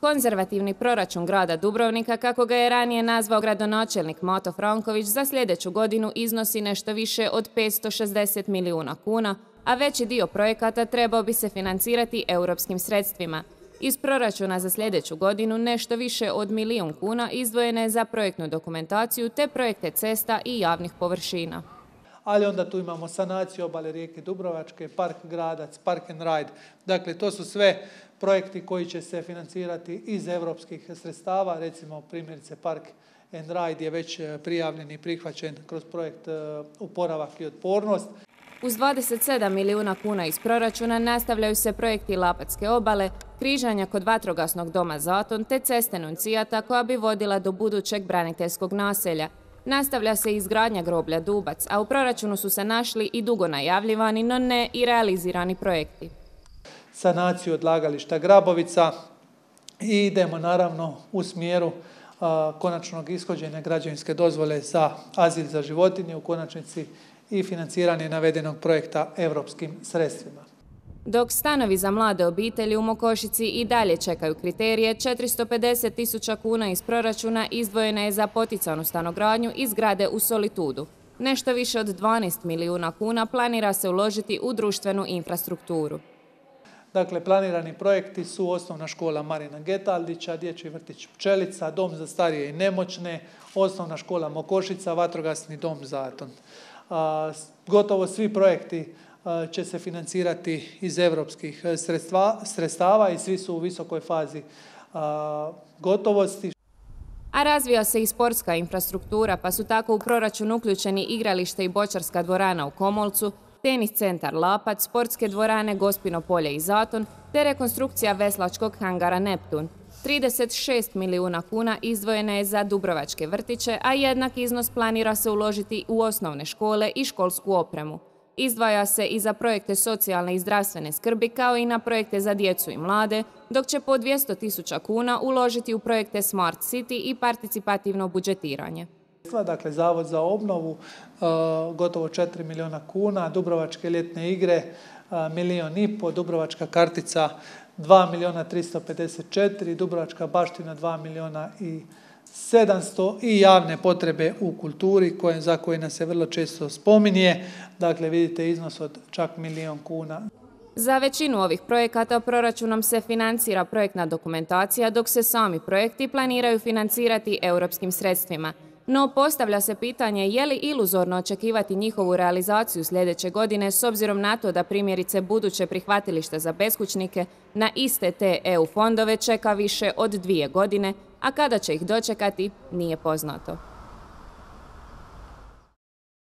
Konzervativni proračun grada Dubrovnika, kako ga je ranije nazvao gradonačelnik Mato Franković, za sljedeću godinu iznosi nešto više od 560 milijuna kuna, a veći dio projekata trebao bi se financirati europskim sredstvima. Iz proračuna za sljedeću godinu nešto više od 1 milijun kuna izdvojene je za projektnu dokumentaciju te projekte cesta i javnih površina. Ali onda tu imamo sanaciju obale rijeke Dubrovačke, park Gradac, park and ride. Dakle, to su sve projekti koji će se financirati iz europskih sredstava. Recimo, primjerice, park and ride je već prijavljen i prihvaćen kroz projekt Oporavak i otpornost. Uz 27 milijuna kuna iz proračuna nastavljaju se projekti Lapatske obale, križanja kod vatrogasnog doma Zaton te ceste Nuncijata koja bi vodila do budućeg braniteljskog naselja. Nastavlja se izgradnja groblja Dubac, a u proračunu su se našli i dugo najavljivani, no ne i realizirani projekti. Sanaciju odlagališta Grabovica i idemo naravno u smjeru konačnog ishođenja građevinske dozvole za azil za životinje, u konačnici i financiranje navedenog projekta europskim sredstvima. Dok stanovi za mlade obitelji u Mokošici i dalje čekaju kriterije, 450.000 kuna iz proračuna izdvojena je za poticanu stanogradnju i zgrade u Solitudu. Nešto više od 12 milijuna kuna planira se uložiti u društvenu infrastrukturu. Dakle, planirani projekti su osnovna škola Marina Getaldića, dječji vrtić Pčelica, dom za starije i nemoćne, osnovna škola Mokošica, vatrogasni dom Zaton. Gotovo svi projekti će se financirati iz europskih sredstava i svi su u visokoj fazi gotovosti. A razvija se i sportska infrastruktura, pa su tako u proračun uključeni igralište i bočarska dvorana u Komolcu, tenis centar Lapac, sportske dvorane Gospino polje i Zaton, te rekonstrukcija veslačkog hangara Neptun. 36 milijuna kuna izdvojene je za dubrovačke vrtiće, a jednak iznos planira se uložiti u osnovne škole i školsku opremu. Izdvaja se i za projekte socijalne i zdravstvene skrbi, kao i na projekte za djecu i mlade, dok će po 200.000 kuna uložiti u projekte Smart City i participativno budžetiranje. Dakle, Zavod za obnovu, gotovo 4 milijuna kuna, Dubrovačke ljetne igre, 1,5 milijuna, Dubrovačka kartica 2 milijuna 354, Dubrovačka baština 2 milijuna i 700 i javne potrebe u kulturi za koje nas se vrlo često spominje. Dakle, vidite iznos od čak 1 milijun kuna. Za većinu ovih projekata proračunom se financira projektna dokumentacija, dok se sami projekti planiraju financirati europskim sredstvima. No postavlja se pitanje je li iluzorno očekivati njihovu realizaciju sljedeće godine s obzirom na to da primjerice buduće prihvatilište za beskućnike na iste te EU fondove čeka više od 2 godine, a kada će ih dočekati nije poznato.